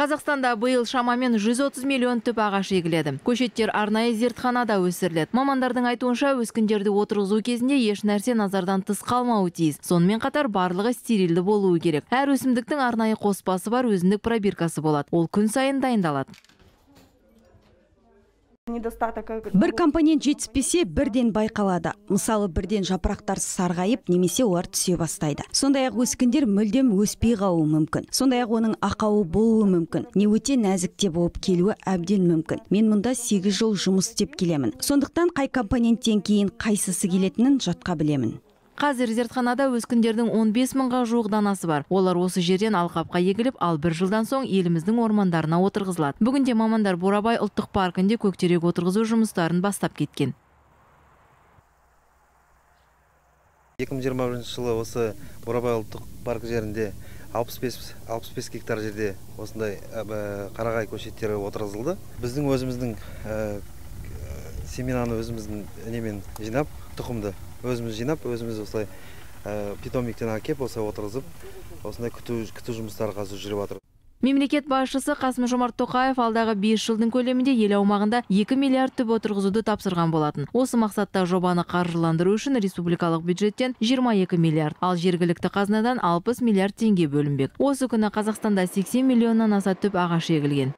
Қазақстанда быйыл шамамен 130 миллион түп ағаш егіледі. Көшеттер арнайы зертханада өсіріледі. Мамандардың айтуынша өскіндерді отырғызу кезінде еш нәрсе назардан тыс қалмауы тиіс. Сонымен қатар барлығы стерилді болуы керек. Әр өсімдіктің арнайы қоспасы бар, өзіндік пробиркасы болады. Ол күн сайын дайындалады. Бір компонент жетіспесе, бірден байқалады. Мысалы, бірден жапырақтар сарғайып, немесе олар түсе бастайды. Сондай-ақ өскіндер мүлдем өспей қалуы мүмкін. Сондай-ақ оның ақауы болуы мүмкін. Не өте нәзікте болып келуі әбден мүмкін. Мен мұнда 8 жыл жұмыс істеп келемін. Сондықтан қай компоненттен кейін қайсысы келетінін жатқа білемін. Қазір зертханада өскіндердің 15 мыңға жуық данасы бар. Олар осы жерден алқапқа егіліп, ал бір жылдан соң еліміздің ормандарына отырғызылады. Бүгінде мамандар Бурабай ұлттық паркінде көктерек отырғызу жұмыстарын бастап кеткен. 2021 жылы осы Бурабай ұлттық парк жерінде 65 гектар жерде осындай қарағай көшеттері отырғызылды. Біздің өзіміздің семенаны өзіміздің немен жинап, тұқымды өзіміз жинап, өзіміз осылай питомниктен әкеп, осылай отырғызып, осындай күту жұмыстары қазір жүріп жатыр. Мемлекет басшысы Қасым-Жомарт Тоқаев алдағы 5 жылдың көлемінде ел аумағында 2 миллиард түп отырғызуды тапсырған болатын. Осы мақсатта жобаны қаржыландыру үшін республикалық бюджеттен 22 миллиард, ал жергілікті қазынадан 60 миллиард теңге бөлінбек. Осы күні Қазақстанда 80 миллионнан аса түп ағаш егілген.